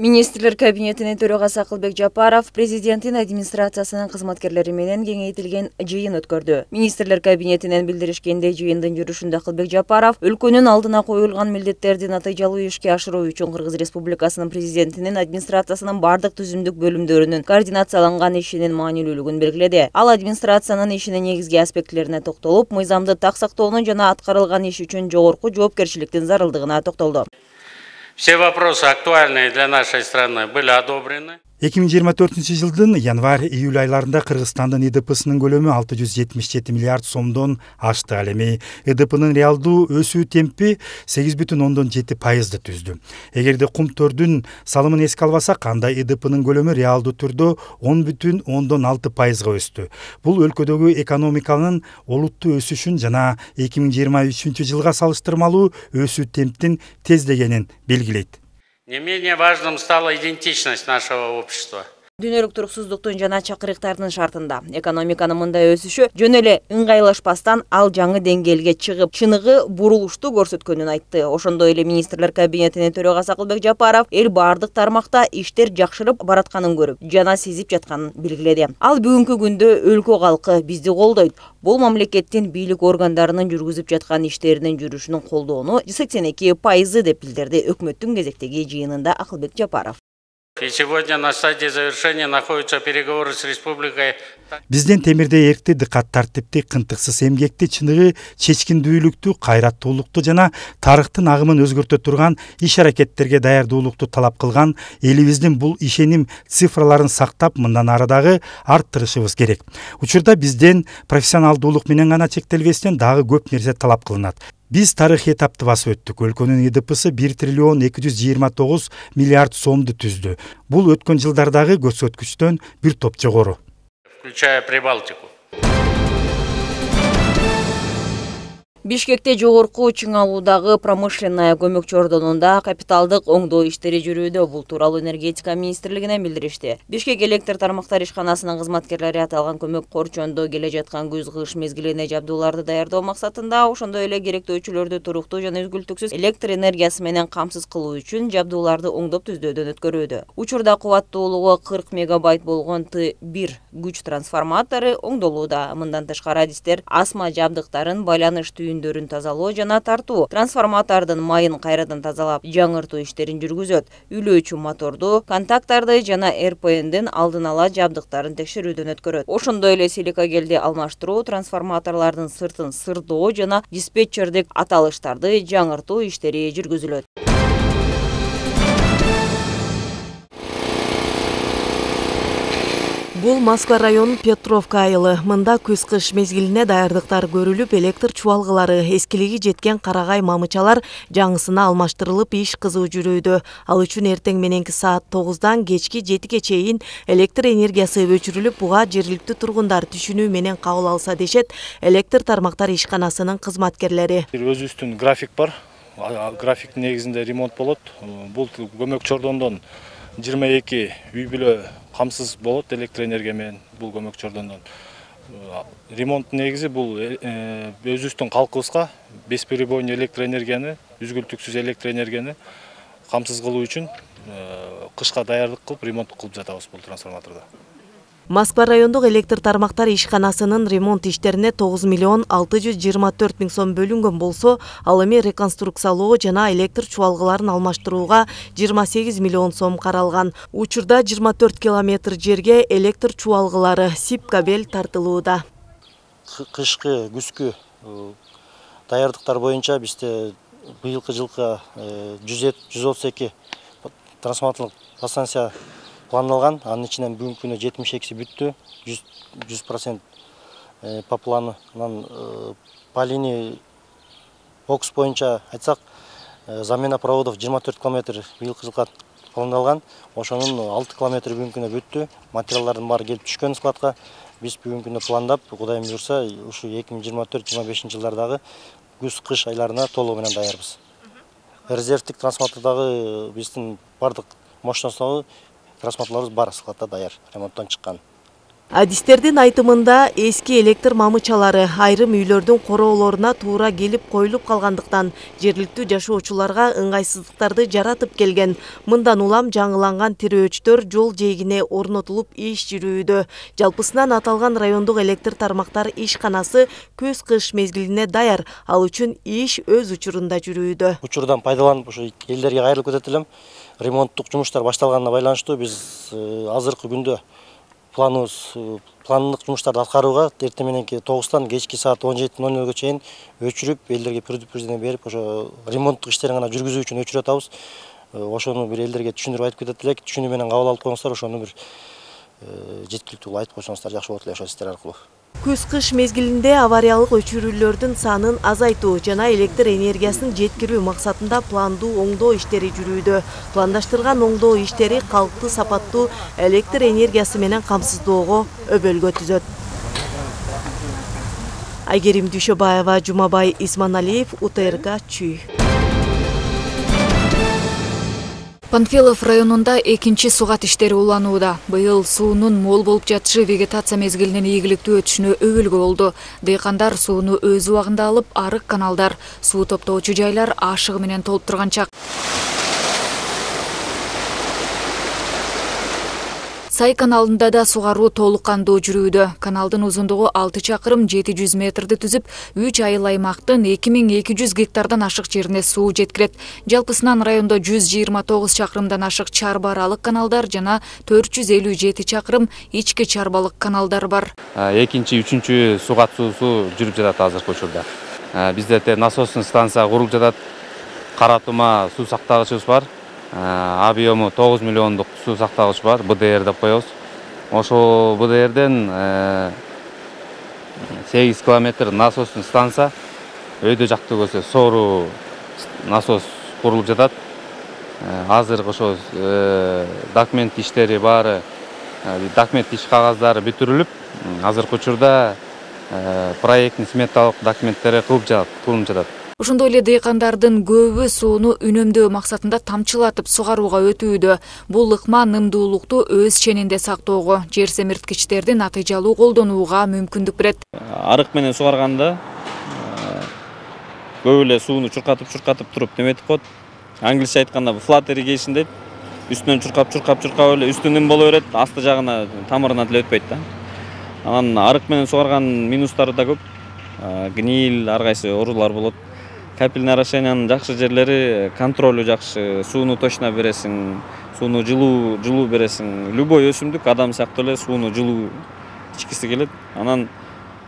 Министрлер кабинетинин төрагасы Акылбек Жапаров президенттин администрациясынын кызматкерлери менен кеңейтилген жыйын өткөрдү. Министрлер кабинетинен билдиришкендей, жыйындын жүрүшүндө Акылбек Жапаров өлкөнүн алдына коюлган милдеттерди натыйжалуу ишке ашыруу үчүн Кыргыз Республикасынын президентинин администрациясынын бардык түзүмдүк бөлүмдөрүнүн координацияланган ишинин маанилүүлүгүн белгиледи. Ал администрациянын ишинин негизги аспектилерине токтолуп, мыйзамды так сактоонун жана аткарылган иш үчүн жогорку жоопкерчиликтин зарылдыгына токтолду. Все вопросы актуальные для нашей страны были одобрены. 2024 январь-июль айларында Кыргызстандын ИДПсынын көлөмү 677 миллиард сомдон ашты. Ал эми ИДПнын реалдуу өсүү темпи 8,7% түздү. Эгерде кумтөрдүн салымын эске албасак, анда ИДПнын көлөмү реалдуу түрдө 10,6%га өстү. Бул өлкөдөгү экономиканын олуттуу өсүшүн жана 2023 жылга салыштырмалуу өсүү темптин тездегенин белгилейт. Не менее важным стала идентичность нашего общества. Дүйнөлүк туруксуздуктун жана чакырыктардын шартында экономиканын мындай өсүшү жөн эле ыңгайлашпастан ал жаңы деңгээлге чыгып, чыныгы бурулушту көрсөткөнүн айтты. Ошондой эле министрлер кабинетинин төрагасы Акылбек Жапаров эл бардык тармакта иштер жакшырып баратканын көрүп, жана сезип жатканын белгиледи. Ал бүгүнкү күндө өлкө калкы бизди колдойт. Бул мамлекеттин бийлик органдарынын жүргүзүп жаткан иштеринин жүрүшүнүн колдоону 82% деп билдирди өкмөттүн кезектеги жыйынында Акылбек Жапаров. И сегодня на стадии завершения находятся переговоры с республикой. Бизден темирдей эркти, дыкат тартипти, кынтыксыз эмгекти, чыныгы чечкиндүүлүктү, кайраттуулукту жана тарыхтын агымын өзгөртө турган иш-аракеттерге даярдуулукту талап кылган элибиздин бул ишеним цифраларын сактап, мындан ары дагы арттырышыбыз керек. Учурда бизден профессионалдуулук менен гана чектелбестен дагы көп нерсе талап кылынат. Биз тарыхый этапты басып өттүк. Өлкөнүн ИДПсы 1 триллион 229 миллиард сомду түздү. Бул өткөн жылдардагы көрсөткүчтөн бир топ жогору. Включая Прибалтику. Бишкекте жогорку чыңалуудагы промышленная көмөкчү ордонунда капиталдык оңдоо иштери жүрүүдө. Бул тууралуу энергетика министрлигинен билдиришти. Бишкек электр тармактар ишканасынын кызматкерлери аталган көмөк корчондо келе жаткан күз-кыш мезгилине жабдууларды даярдоо максатында, ошондой эле керектөөчүлөрдү туруктуу жана үзгүлтүксүз электр энергиясы менен камсыз кылуу үчүн жабдууларды оңдоп түздөөдөн өткөрүүдө. Учурда кубаттуулугу 40 мегабайт болгон Т1 күч трансформатору оңдолууда. Мындан тышкары адистер асма жабдыктарын, байланыш түйүндөрүн тазалоо жана тартуу, трансформатордун майын кайрадан тазалап, жаңыртуу иштерин жүргүзөт. Үйлөөчү моторду, контакттарды жана РПНдин алдын ала жабдыктарын текшерүүдөн өткөрөт. Ошондой эле силикагелди алмаштыруу, трансформаторлордун сыртын сырдоо жана диспетчердик аталыштарды жаңыртуу иштери жүргүзүлөт. Бул Москва районунун Петровка айылы. Мында күз-кыш мезгилине даярдыктар көрүлүп, электр чубалгылары, эскилиги жеткен карагай мамычалар жаңысына алмаштырылып, иш кызуу жүрүүдө. Ал үчүн эртең мененки саат 9-дан кечки 7-ге чейин электр энергиясы өчүрүлүп, буга жергиликтүү тургундар түшүнүү менен кабыл алса дешет электр тармактар ишканасынын кызматкерлери. Өзүбүздүн график бар. Графиктин негизинде ремонт болот. Бул көмөкчү ордондон 22 үй бүлө камсыз болот электр энергия менен бул көмөкчү ордондон. Ремонттун негизи бул өзүбүздүн калкыбызга бесперебойный электр энергияны, үзгүлтүксүз электр энергияны камсыз кылуу үчүн кышка даярдык кылып, ремонт кылып жатабыз бул трансформатордо. Москва райондук электр тармактар ишканасынын ремонт иштерине 9 миллион 624 миң сом бөлүнгөн болсо, ал эми реконструкциялоо жана электр чубалгыларын алмаштырууга 28 миллион сом каралган. Учурда 24 километр жерге электр чубалгылары сип кабель тартылууда. Кышкы, күзгү даярдыктар боюнча бизде быйылкы жылкы 132 трансформаторлук подстанция пландалган. Анын ичинен бүгүнкү күнү 72 бүттү, 100% по плану. По линии бокс боюнча айтсак, замена проводов 24 километр быйылкы жылга пландалган. Ошонун 6 километр бүгүнкү күнү бүттү. Материалдардын баары келип түшкөн складка. Биз бүгүнкү күнү пландап, Кудайым буйрса, ушу 2024-25 жылдардагы күз-кыш айларына толугу менен даярбыз. Резервдик трансформатордагы биздин бардык мощностугу трансформаторлорубуз бар складда даяр, ремонттон чыккан. Адистердин айтымында эски электр мамычалары айрым үйлөрдүн короолоруна туура келип коюлуп калгандыктан жергиликтүү жашоочуларга ыңгайсыздыктарды жаратып келген. Мындан улам жаңыланган тирөөчтөр жол жээгине орнотулуп иш жүрүүдө. Жалпысынан аталган райондук электр тармактар ишканасы көз-кыш мезгилине даяр. Ал үчүн иш өз учурунда жүрүүдө. Учурдан пайдаланып ушу элдерге кайрылып кетет элем. Ремонттук жумуштар башталганына байланыштуу биз азыркы күндө пландык жумуштарды аткарууга эртең мененки 9-тан кечки саат 17:00 чейин өчүрүп, элдерге предупреждение берип, ошо ремонттук иштерин гана жүргүзүү үчүн өчүрүп атабыз. Ошону бир элдерге түшүндүрүп айтып кетет элек. Түшүнүү менен кабыл алып коюңуздар, ошону бир жеткиликтүү айтып койсоңуздар жакшы болот эле ошол сиздер аркылуу. Күз-кыш мезгилинде авариялык өчүрүүлөрдүн санын азайтуу жана электр энергиясын жеткирүү максатында пландуу оңдоо иштери жүрүүдө. Пландаштырган оңдоо иштери калктуу сапаттуу электр энергиясы менен камсыздоого өбөлгө түзөт. Айгерим Дүйшөбаева, Жумабай Исманалиев, УТРК Чүй. Панфилов районунда экинчи сугат иштери уланууда. Быйыл суунун мол болуп жатышы вегетация мезгилинин ийгиликтүү өтүшүнө өбөлгө болду. Дыйкандар сууну өз убагында алып, арык каналдар, суу топтоочу жайлар ашыгы менен толуп турган чак. Сай каналында да сугаруу толук кандуу жүрүүдө. Каналдын узундугу 6 чакырым 700 метрди түзүп, 3 айыл аймактын 2200 гектардан ашык жерине суу жеткирет. Жалпысынан райондо 129 чакырымдан ашык чарба аралык каналдар жана 457 чакырым ички чарбалык каналдар бар. Экинчи, үчүнчү сугат суусу жүрүп жатат азыркы учурда. Бизде насостун станция курулуп жатат. Кара тума суу сактагычыбыз бар. Объему 9 миллиондук суу сактагыч бар, БДР деп коебуз. Ошол БДРден 8 километр насостун станция, өйдө жакты көзө соору насос курулуп жатат. Азыр ошо документ иштери баары, документ иш кагаздары бүтүрүлүп, азыркы учурда проекттин сметалык документтери кылынып жатат. Ошондой эле дыйкандардын көбү сууну үнөмдөө максатында тамчылатып сугарууга өтүүдө. Бул ыкма нымдуулукту өз ченинде сактоого, жер семирткичтерди натыйжалуу колдонууга мүмкүндүк берет. Арык менен сугарганда көп эле сууну чуркатып туруп неметип коет. Англисче айтканда flat irrigation дейт. Үстүнөн чуркап эле үстү ным боло берет, асты жагына тамырына деле өтпөйт да. Анан арык менен сугарган минустары да көп. Гниль, ар кайсы оорулар болот. Капельный орошениянын жакшы жерлери контролу жакшы, сууну точно бересиң, сууну жылуу бересиң. Любой өсүмдүк адам сыяктуу эле сууну жылуу ичкиси келет. Анан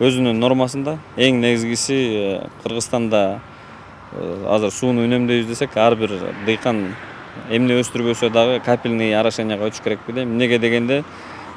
өзүнүн нормасында эң негизгиси Кыргызстанда азыр сууну үнөмдөйбүз десек, ар бир дыйкан эмне өстүрбөсө дагы капельный орошенияга өтүш керек деп. Эмнеге дегенде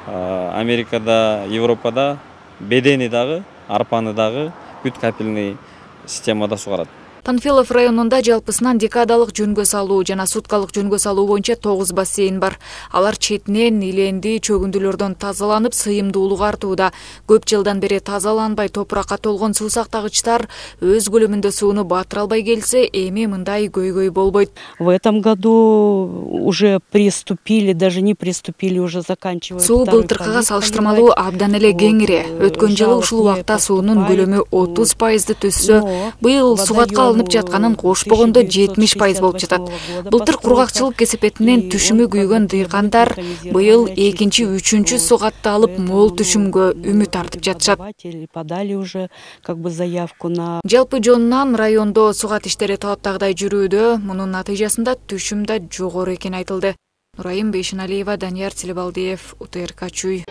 Америкада, Европада бедени дагы, арпаны дагы бүт капельный системада сугарат. Панфилов районунда жалпысынан декадалык жөнгө салуу жана суткалык жөнгө салуу боюнча 9 бассейн бар. Алар четинен иленди чөгүндүлөрдөн тазаланып, сыйымдуулугу артууда. Көп жылдан бери тазаланбай топуракка толгон суу сактагычтар өз көлөмүндө сууну батыра албай келсе, эми мындай көйгөй болбойт. В этом году уже приступили, даже не приступили, уже заканчивают. Суу былтыркыга салыштырмалуу абдан эле кеңири. Өткөн жылы ушул убакта суунун көлөмү 30% түзсө, быйыл сугатка алынып жатканын кошпогондо 70% болуп жатат. Былтыр кургакчылык кесепетинен түшүмү күйгөн дыйкандар быйыл экинчи, үчүнчү сугатты алып мол түшүмгө үмүт артып жатышат. Подали уже как бы заявку на. Жалпы жонунан райондо сугат иштери талаптагыдай жүрүүдө, мунун натыйжасында түшүм да жогору экени айтылды. Нурайым Бейшеналиева, Данияр Тилебалдиев, УТРК Чүй.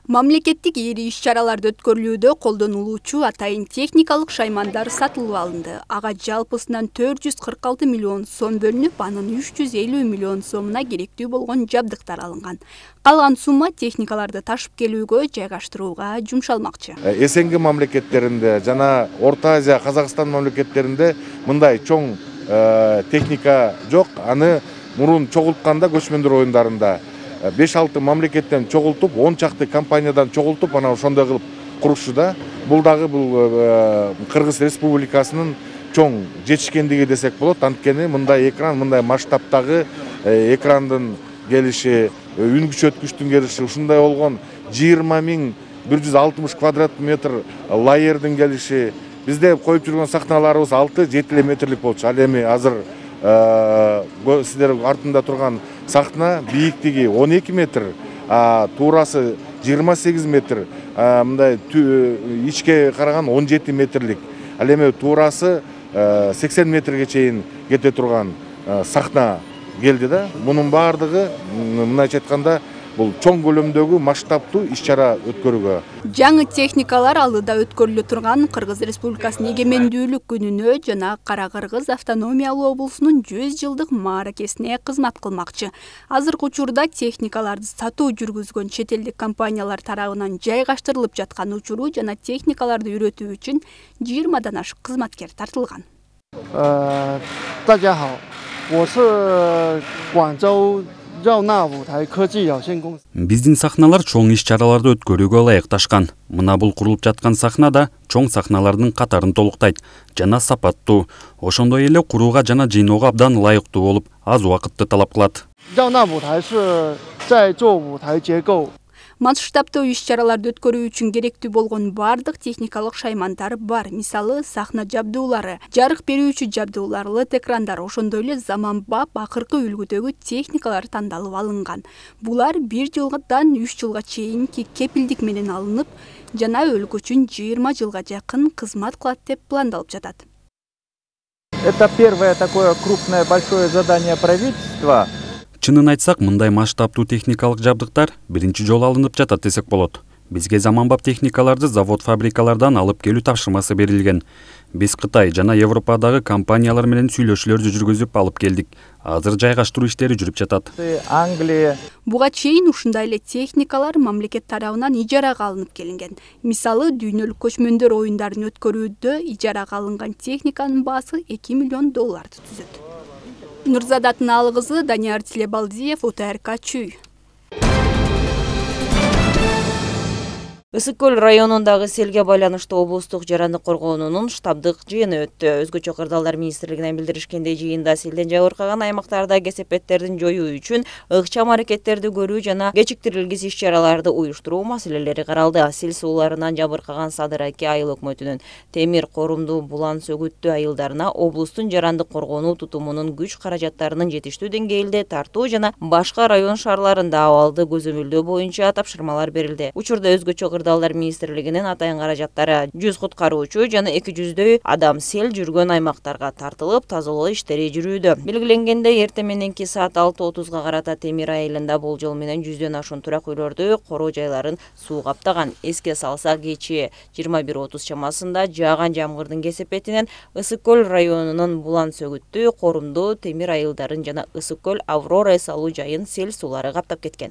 Мамлекеттик ири иш-чараларды өткөрүлүүдө колдонулуучу атайын техникалык шаймандар сатылып алынды. Ага жалпысынан 446 миллион сом бөлүнүп, анын 350 миллион сомуна керектүү болгон жабдыктар алынган. Калган сумма техникаларды ташып келүүгө, жайгаштырууга жумшалмакчы. СНГ мамлекеттеринде жана Орто Азия, Казакстан мамлекеттеринде мындай чоң техника жок. Аны мурун чогултканда көчмөндөр оюндарында 5-6 мамлекеттен чогултуп, 10 чакты компаниядан чогултуп, анан ошондой кылып курушуда. Бул дагы Кыргыз Республикасынын чоң жетишкендиги десек болот. Анткени мындай экран, мындай масштабтагы экрандын келиши, үн күчөткүчтүн келиши ушундай болгон 20.160 квадрат метр лайердин келиши. Бизде коюп жүргөн сахналарыбыз 6-7 метрлик болчу. Ал эми азыр сиздер артында турган сахна бийиктиги 12 метр, туурасы 28 метр, мындай ичке караган 17 метрлик. Ал эми туурасы 80 метрге чейин кете турган сахна келди да. Мунун баардыгы мындайча айтканда бул чоң көлөмдөгү масштабтуу иш-чара өткөрүүгө. Жаңы техникалар алдыда өткөрүлө турган Кыргыз Республикасынын эгемендүүлүк күнүнө жана Кара Кыргыз автономиялуу облусунун 100 жылдык мааракесине кызмат кылмакчы. Азыркы учурда техникаларды сатуу жүргүзгөн чет элдик компаниялар тарабынан жайгаштырылып жаткан учуру жана техникаларды үйрөтүү үчүн 20дан ашык кызматкер тартылган. 大家好，我是广州 Биздин сахналар чоң иш-чараларды өткөрүүгө ылайыкташкан. Мына бул курулуп жаткан сахна да чоң сахналардын катарын толуктайт жана сапаттуу. Ошондой эле курууга жана жыйноого абдан ылайыктуу болуп, аз убакытты талап кылат. Масштабтуу иш-чараларды өткөрүү үчүн керектүү болгон бардык техникалык шаймандар бар. Мисалы, сахна жабдуулары, жарык берүүчү жабдуулар, LED экрандар, ошондой эле заманбап акыркы үлгүдөгү техникалар тандалып алынган. Булар 1 жылдан 3 жылга чейинки кепилдик менен алынып, жана өлкө үчүн 20 жылга жакын кызмат кылат деп пландалып жатат. Это первое такое крупное большое задание правительства. Чынын айтсак, мындай масштабтуу техникалык жабдыктар биринчи жолу алынып жатат десек болот. Бизге заманбап техникаларды завод-фабрикалардан алып келүү тапшырмасы берилген. Биз Кытай жана Европадагы компаниялар менен сүйлөшүүлөрдү жүргүзүп алып келдик. Азыр жайгаштыруу иштери жүрүп жатат. Англия. Буга чейин ушундай эле техникалар мамлекет тарабынан ижарага алынып келинген. Мисалы, дүйнөлүк көчмөндөр оюндарын өткөрүүдө ижарага алынган техниканын баасы $2 миллион түзөт. Нурзада Атынаалы кызы, Данияр Тилебалдиев, УТРК Чүй. Ысык көл районундагы селге байланыштуу облустук жарандык коргоонунун штабдык жыйыны өттү. Өзгөчө кырдаалдар министрлигинен билдиришкендей, жыйында селден жабыркаган аймактарда кесепеттердин жоюу үчүн ыкчам аракеттерди көрүү жана кечиктирилгис иш-чараларды уюштуруу маселелери каралды. Сел сууларынан жабыркаган Садыр-Аке айыл өкмөтүнүн Темир, Корумду, Булан, Сөгүттү айылдарына облустун жарандык коргонуу тутумунун күч каражаттарынын жетиштүү деңгээлде тартуу жана башка район шаарларында абалды көзөмөлдөө боюнча тапшырмалар берилди. Учурда өзгөчө кырдаалдар министрлигинин атайын каражаттары 100 куткаруучу жана 200дөй адам сел жүргөн аймактарга тартылып, тазалоо иштери жүрүүдө. Белгиленгендей, эртең мененки саат 6:30га карата Темир айылында болжол менен 100дөн ашуун турак үйлөрдү, короо жайларын суу каптаган. Эске салсак, кечээ 21:30 чамасында жааган жамгырдын кесепетинен Ысык көл районунун Булан, Сөгүттү, Корумду, Темир айылдарын жана Ысык көл Аврора эс алуу жайын сел суулары каптап кеткен.